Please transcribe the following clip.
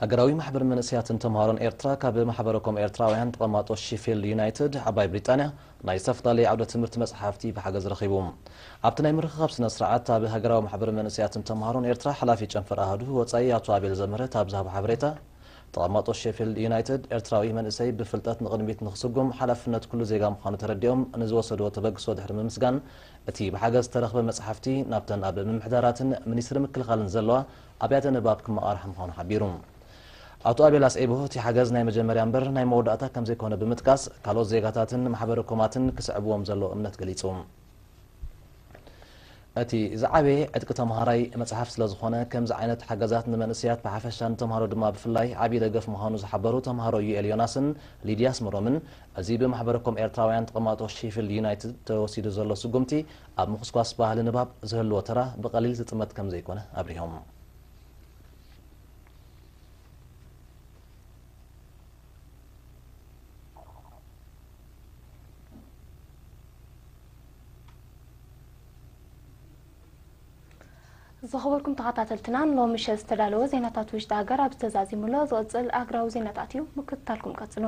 ሃገራዊ ማሕበር መንእሰያትን ተምሃሮን ኤርትራ ካብ ማሕበረኮም ኤርትራውያን ተቐማጦ ሺፊልድ ዩናይትድ ዓባይ ብሪጣንያ ናይ ዝተፈላለዩ ዓውደ ትምህርቲ መጽሓፍቲ ብሓገዝ ረኺቡ። ኣብቲ ናይ ምርኽኻብ ስነ ስርዓት ኣብ ሃገራዊ ማሕበር መንእሰያትን ተምሃሮን ኤርትራ ሓላፊ ጨንፈር ኣሃዱ ወጻኢ ኣቶ ኣቤል ዘምህረት ኣብ ዝሃቦ ሓበሬታ፣ ተቐማጦ ሼፊልድ ዩናይትድ ኤርትራዊ መንእሰይ ብፍልጠት ንቕድሚት ንኽስጉም ሓላፍነት ኩሉ ዜጋ ምዃኑ ተረዲኦም ንዝወሰድዎ ተበግሶ ድሕሪ ምምስጋን፣ እቲ ብሓገዝ ዝተረኽበ መጽሓፍቲ ናብተን ኣብ ምምሕዳራትን ሚኒስትሪ ምክልኻልን ዘለዋ ኣብያተ ንባብ ክመቓርሕ ምዃኑ ሓቢሩ። ኣቶ ኣቤል ኣስዒቡ፣ እቲ ሓገዝ ናይ መጀመርያ እምበር ናይ መወዳእታ ከም ዘይኮነ ብምጥቃስ፣ ካልኦት ዜጋታትን ማሕበረ ኮማትን ክስዕብዎም ዘለዎ እምነት ገሊጹ። እቲ ዝዓበየ ዕጥቂ ተምሃራይ መጽሓፍ ስለ ዝኾነ፣ ከምዚ ዓይነት ሓገዛት ንመንእሰያት ብሓፈሻ ንተምሃሮ ድማ ብፍላይ ዓብዪ ደገፍ ምዃኑ ዝሓበሩ ተምሃሮ ዩኤል ዮናስን ሊድያ ኣስመሮምን፣ እዚ ብማሕበረኮም ኤርትራውያን ተቐማጦ ሺፊልድ ዩናይትድ ተወሲዱ ዘሎ ስጉምቲ ኣብ ምኹስኳስ ባህሊ ንባብ ዝህልዎ ተራ ብቐሊል ዝጥመት ከም ዘይኮነ ኣብሪሆም። ዝኸበርኩም ተኸታተልትና፣ ንሎሚ ምሸት ዝተዳለወ ዜናታት ውሽጢ ሃገር ኣብ ዝተዛዚሙሎ ዝቕጽል ኣህጉራዊ ዜናታት እዩ። ምክትታልኩም ቀጽሉ።